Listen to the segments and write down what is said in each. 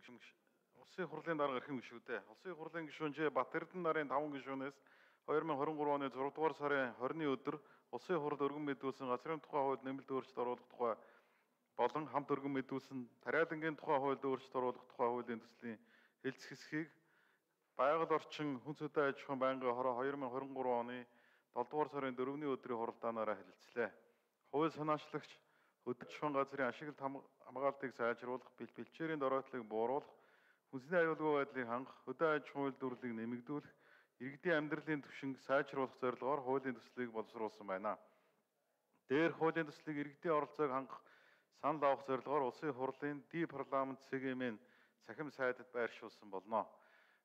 Улсын хурлын дарга эрхэм гишүүдээ. Улсын хурлын гишүүнжээ Бат Эрдэнэ нарын 5 гишүүнээс 2023 оны 6 дугаар сарын 20-ны өдөр Улсын хурл өргөн мэдүүлсэн газрын тухай хууль нэмэлт өөрчлөлт оруулах тухай болон хамт өргөн мэдүүлсэн тариалангийн тухай хуульд өөрчлөлт оруулах тухай хуулийн төслийн хэлцэх хэсгийг байгаль орчин хүн цэдэн аж ахуйн байнгын хороо 2023 оны 7 дугаар сарын 4-ний өдрийн хуралдаанаараа хэлэлцлээ. Хууль санаачлагч хөдөлгөөн газрын ашиглалт хамгаалтыг сайжруулах, бэлчээрийн доройтлыг бууруулах, хүнсний аюулгүй байдлыг хангах, хөдөө аж ахуйн үйлдвэрлэлийг нэмэгдүүлэх, иргэдийн амьдралын түвшинг сайжруулах зорилгоор хуулийн төслийг боловсруулсан байна. Дээрх хуулийн төслийг иргэдийн оролцоог хангах, санал авах зорилгоор Улсын хурлын парламент CGM-ийн цахим сайдад байршуулсан болно.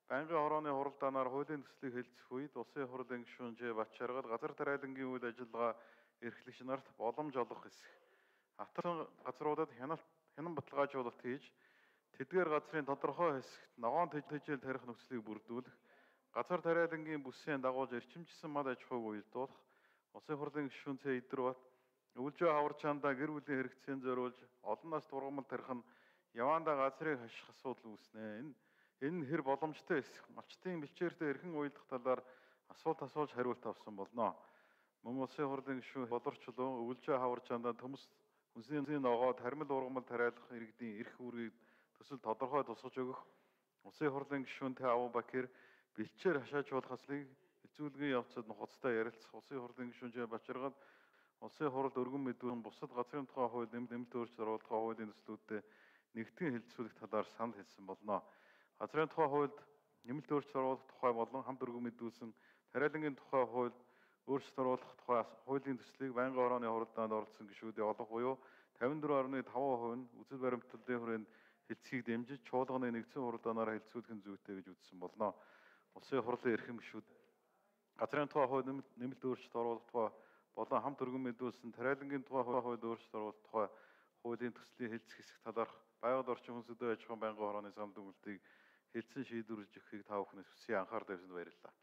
Байнгын хорооны хуралдаанаар хуулийн төслийг хэлцэх үед Улсын хурлын гишүүн Ж. Бат Жаргал газар тариалангийн үйл ажиллагаа эрхлэгч нарт боломж олгох хэсэг. Хавтар газруудад хянан баталгаажуулалт хийж, тэдгээр газрын тодорхой хэсэгт ногоон тэжээл тарих нөхцөлийг бүрдүүлэх, газар тариалангийн бүсийн дагуулж эрчимжсэн мал аж ахуйг уялдуулах, Улсын хурлын гишүүн Ц. Идэрбат өвөлжөө хаварчаандаа гэр бүлийн хэрэгцээнд зориулж олон нас тургамал тарих нь яваандаа газрыг хаших асуудал үүснэ. Энэ нь хэр боломжтой хэсэг, малчтын бэлчээртэй эрхэн уялдах талаар асуулт асууж хариулт авсан болно. Мөн Улсын хурлын гишүүн болорчлон өвөлжөө хаварчаандаа төмс хүнсний ногоо тармил ургамал тариалах иргэдийн эрх үүргийг төсөл тодорхой тусгаж өгөх, Улсын хурлын гишүүн Т. Абубакир бэлчээр хашаажуулах ажлыг хэцүүлгийн явцад нухацтай ярилцах, Улсын хурлын гишүүн Ж. Бат Жаргал Улсын хуралд өргөн мэдүүлэн бусад газрын тухай хууль нэмэлт өөрчлөлт оруулах хуулийн төслүүдэд нэгтгэн хэлэлцүүлэх талаар санал хэлсэн болно. Газрын тухай хуульд нэмэлт өөрчлөлт оруулах тухай болон хамт өргөн мэдүүлсэн тариалангийн тухай хуульд өөрчлөлт оруулах тухай хуулийн төслийг байнгын хорооны хуралдаанд оролцсон гишүүдийн олонх буюу 54.5% нь үзэл баримтлалын хүрээнд хэлцгийг дэмжиж чуулганы нэгдсэн хуралдаанаараа хэлэлцүүлэх нь зүйтэй гэж үзсэн болно. Улсын хурлын эрхэм гишүүд газрын тухай хууль нэмэлт өөрчлөлт оруулах тухай болон хамт өргөн мэдүүлсэн тариалангийн тухай хууль өөрчлөлт оруулах тухай хуулийн төслийн хэлцэх хэсэг талаарх байгаль орчин хүн цэдэн аж ахуйн байнгын хорооны санал дүгнэлтийг хэлсэн шийдвэрлэж өгөхийг та бүхнээс хүсье анхаар тавьсанд баярлалаа.